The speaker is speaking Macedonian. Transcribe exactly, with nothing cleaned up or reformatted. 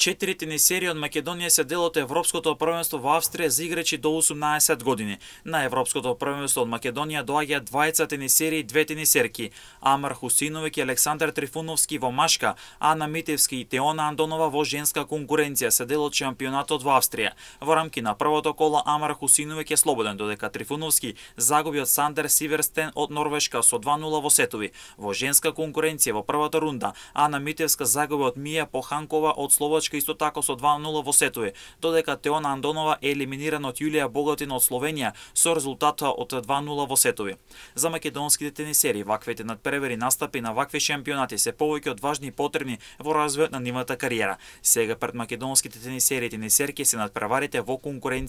Четири тенисери од Македонија се дел од Европското првенство во Австрија за играчи до осумнаесет години. На Европското првенство од Македонија доаѓаат двајца тенисери и две тенисерки. Амар Хусиновиќ и Александар Трифуновски во машка, Ана Митевски и Теона Андонова во женска конкуренција се дел од шампионатот во Австрија. Во рамки на првото коло Амар Хусиновиќ е слободен, додека Трифуновски загуби од Сандер Сиверстен од Норвешка со два нула во сетови. Во женска конкуренција во првата рунда Ана Митевска загуби од Мија Поханкова од Словачка исто така со два нула во сетови, додека Теона Андонова е елиминирана од Јулија Богатина од Словенија со резултата од два нула во сетови. За македонските тенисери ваквите надпревари настапи на вакви шампионати се повеќе од важни и потребни во развојот на нивната кариера. Сега пред македонските тенисери и тенисерки се надпреварите во конкуренција